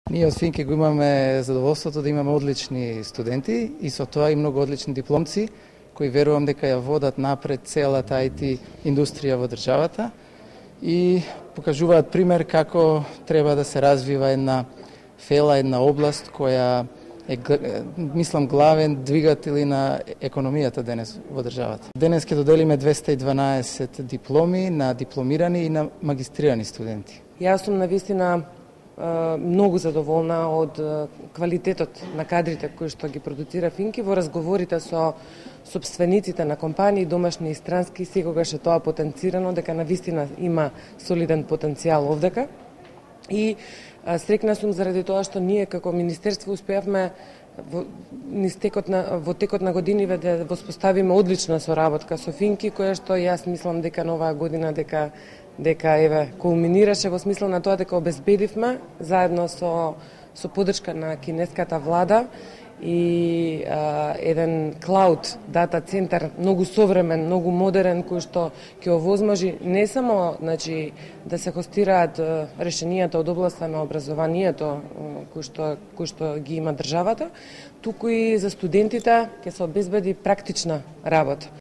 Ние од Финки го имаме задоволството да имаме одлични студенти и со тоа и многу одлични дипломци кои верувам дека ја водат напред целата IT индустрија во државата и покажуваат пример како треба да се развива една фела, една област која е, мислам, главен двигател на економијата денес во државата. Денес ќе доделиме 212 дипломи на дипломирани и на магистрирани студенти. Јас сум навистина многу задоволна од квалитетот на кадрите кои што ги продуцира Финки. Во разговорите со сопствениците на компании, домашни и странски, секогаш е тоа потенцирано дека навистина има солиден потенцијал овдека. И среќна сум заради тоа што ние како министерство успеавме во текот на годиниве да воспоставиме одлична соработка со Финки, која што јас мислам дека на оваа година дека еве кулминираше во смисла на тоа дека обезбедивме заедно со поддршка на кинеската влада и еден клауд дата центар многу современ, многу модерен, кој што ќе овозможи не само да се хостираат решенијата од областа на образованието кој што ги има државата, туку и за студентите ќе се обезбеди практична работа.